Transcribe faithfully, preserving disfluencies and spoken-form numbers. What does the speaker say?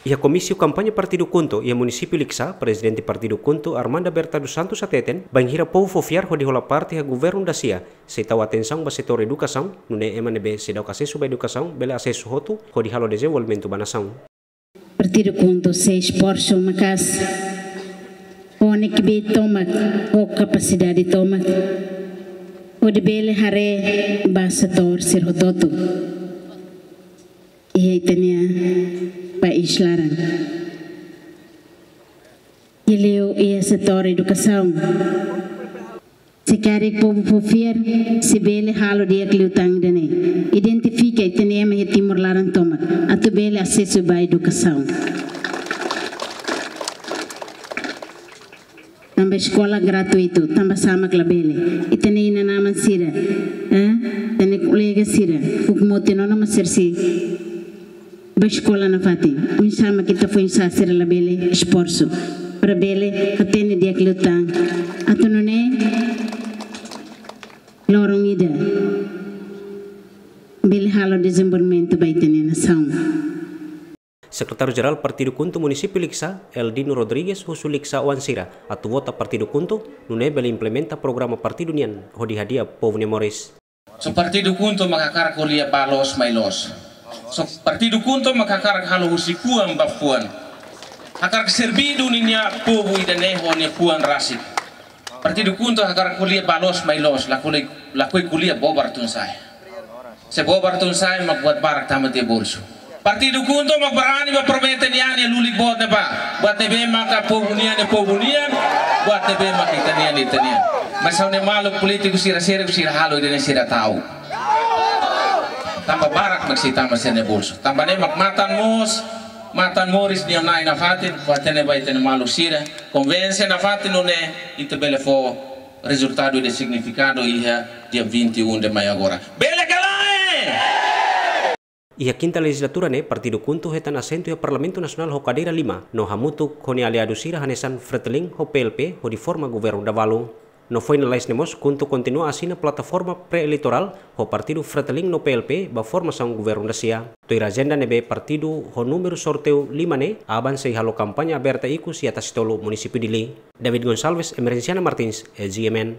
Iha komísiu kampaña partidu KHUNTO iha munisípiu Likisá, prezidente partidu KHUNTO, Armanda Berta dos Santos, hateten, bainhira povu fó fiar hodi hola parte iha governu dasia, sei tau atensaun ba setór edukasaun, nune'e ema ne'ebé seidauk asesu ba edukasaun bele asesu hotu, hodi halo dezenvolvimentu ba nasaun. Partidu KHUNTO sei esforsu maka'as, ho ne'ebé tomak, ho kapasidade tomak, hodi bele haree ba setór sira hotu-hotu iha ita-nia país laran. Liuliu iha setór edukasaun. Se karik povu fó fiar, sei bele halo di'ak liután ida-ne'e. Identifika ita-nia ema iha Timor laran tomak, atu bele asesu ba edukasaun. Tanba eskola gratuitu, tanba sá mak labele. Ita-nia inan-aman sira, eh? Ita-nia kolega sira, fuuk moti ona mak sira sei ba eskola nafatin. Oinsá mak ita foin-sa'e sira labele esforsu para bele hatene di'ak liután. Atu nune'e loron ida bele halo dezenvolvimentu ba ita-nia nasaun. Sekretáriu Jerál Partidu KHUNTO munisípiu Likisá, Eldino Rodrigues, husu Likisá-oan sira atu vota Partidu KHUNTO, nune'e bele implementa programa partidu nian hodi hadi'a povu nia moris. Só Partidu KHUNTO mak hakarak ko'alia ba loos mai loos. Só Partidu KHUNTO mak hakarak halo husi fuan ba fuan. Hakarak serbidu ninia povu ida-ne'e ho nia fuan rasik. Partidu KHUNTO hakarak ko'alia ba loos mai loos, lakohi, lakohi ko'alia bobar tun-sa'e. Se bobar tun-sa'e mak buat barak tama tiha bolsu. Partidu KHUNTO mak barani ba promete nian iha lulik boot ne'ebá. Buat ne'ebé maka povu nian, iha povu nian, buat ne'ebé maka ita-nian, ita-nian. Mas ha'u-nia maluk polítiku sira sériu, sira halo ida-ne'e sira ta'uk. Tanba barak mak sei tama sira-nia bolsu. Tanba ne'e mak matan moos, matan moris nia Na'i nafatin, buat ne'ebá ita-nia maluk sira. Konvense nafatin nune'e ita bele fó rezultadu ida signifikadu iha dia vinte e um de maio agora. Bele ka lae? Iha kinta lejizlatura ne'e, Partidu KHUNTO hetan asentu iha Parlamentu Nasionál ho kadeira lima, no hamutuk ho nia aliadu sira hanesan FRETILIN ho PLP hodi forma governu dahuluk. No foin lalais ne'e mós, KHUNTO kontinua asina plataforma pré-eleitorál ho partidu FRETILIN no PLP ba formasaun governu dasia. Tuir ajenda ne'ebé partidu ho númeru sorteiu lima ne'e, aban sei halo kampaña aberta ikus iha Tasitolu, munisípiu Dili. David Gonçalves, Emerenciana Martins, G M N.